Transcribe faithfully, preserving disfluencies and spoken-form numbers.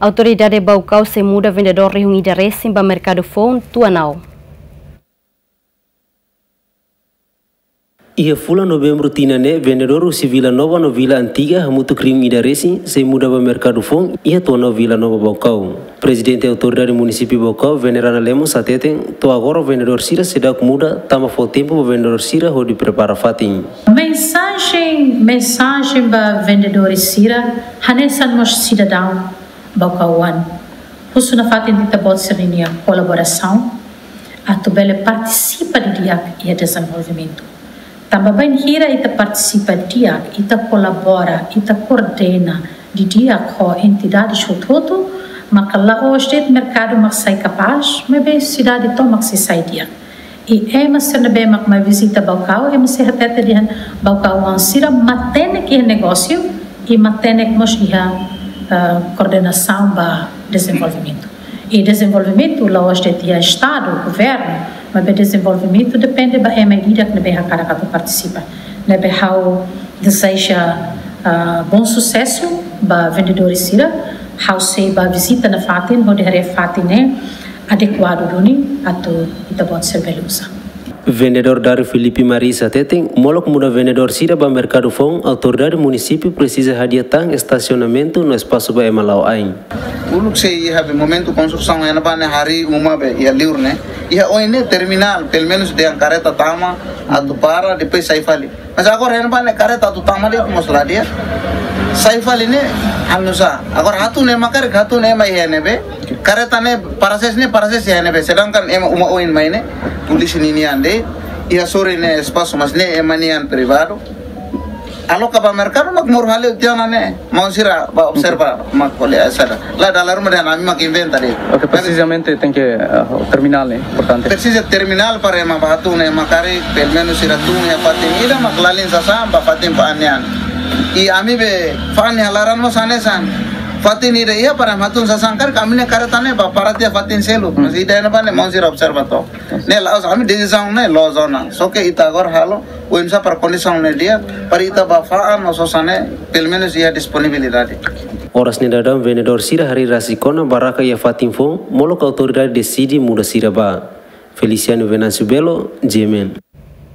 Autoridade Baucau sei muda vendedór rihun ida resin ba merkadu foun Tuanau. Iha fulan Novembru tinan ne'e, vendedór husi Vila Nova no Vila Antiga hamutuk rihun ida resin sei muda ba merkadu foun iha Tuanau, Vila Nova, Baucau. Prezidente Autoridade Munisípiu Baucau, Venerana Lemos, hateten to'o agora vendedór sira seidauk muda, tanba fó tempu ba vendedór sira hodi prepara fatin. Mensajen, mensajen ba vendedór sira, hanesan mós sidadaun baucauan. Husu nafatin ita-boot sira-nia kolaborasaun atu bele partisipa didi'ak iha dezenvolvimentu. Tanba bainhira ita partisipa di'ak, ita kolabora, ita koordena didi'ak ho entidade hotu-hotu, maka la'ós de'it merkadu mak sai kapás, maibé sidade tomak sei sai di'ak. I ema sira ne'ebé mak mai vizita Baucau, ema sei hatete dehan baucauan sira matenek iha negósiu, i matenek mós iha, eh, koordenasaun ba dezenvolvimentu. I dezenvolvimentu la'ós de'it iha Estadu, governu, maibé dezenvolvimentu depende ba ema ida-idak ne'ebé hakarak atu partisipa. Ne'ebé ha'u dezeja, ah, bom susesu ba vendedór sira, ha'u sei bá vizita nafatin, hodi haree fatin ne'e adekuadu duni atu ita-boot sira bele uza. Vendedór Dario Filipe Marisa hateten, molok muda vendedór sira ba merkadu foun, autoridade munisípiu presiza hadi'a tan estasionamentu no espasu ba ema la'o ain. Uluk sei iha be momentu konstrusaun iha ne'ebá ne'e harii uma be iha liur ne'e. Iha oin ne'e terminál, pelumenus dehan kareta tama, atu para, depois sai fali. Mas agora iha ne'ebá ne'e kareta atu tama de'it mós la di'ak. Sai fali ne'e, anu sá. Agora hatun ema karik, hatun ema iha ne'ebé. Kareta ne'e para ses ne'e, para ses iha ne'ebé. Sedangkan ema uma oin mai ne'e, polísia ninian de'it. Iha sorin ne'e espasu, mas ne'e ema nian privadu. Aloka ba merkadu mak moru hale'u tiha ona ne'e. Maun sira bá observa mak ko'alia saida. La dala ruma dehan ami mak inventa de'it. Oke, precisamente tenke, ah, terminál ne'e importante. Presiza terminál para ema bá hatun ne'e ema karik, pelumenus sira tun iha fatin ida mak lalin sasán ba fatin fa'an nian. I ami be fa'an iha laran mós hanesan. Fatin ida iha para ema hatun sasán karik, ami-nia kareta ne'e bá para tiha fatin seluk. Hmm. Mas ida iha ne'ebá ne'e maun sira observa to'ok. Ne'e la'ós ami desizaun ne'e loos ona. Só ke ita agora halo, oinsá para kondisaun ne'e di'ak, para ita bá fa'an no sosa ne'e, pelumenus iha disponibilidade. Oras ne'e daudaun vendedór sira harii rasik ona barraka iha fatin foun, molok autoridade deside muda sira bá. Feliciano Venâncio Belo, G M N.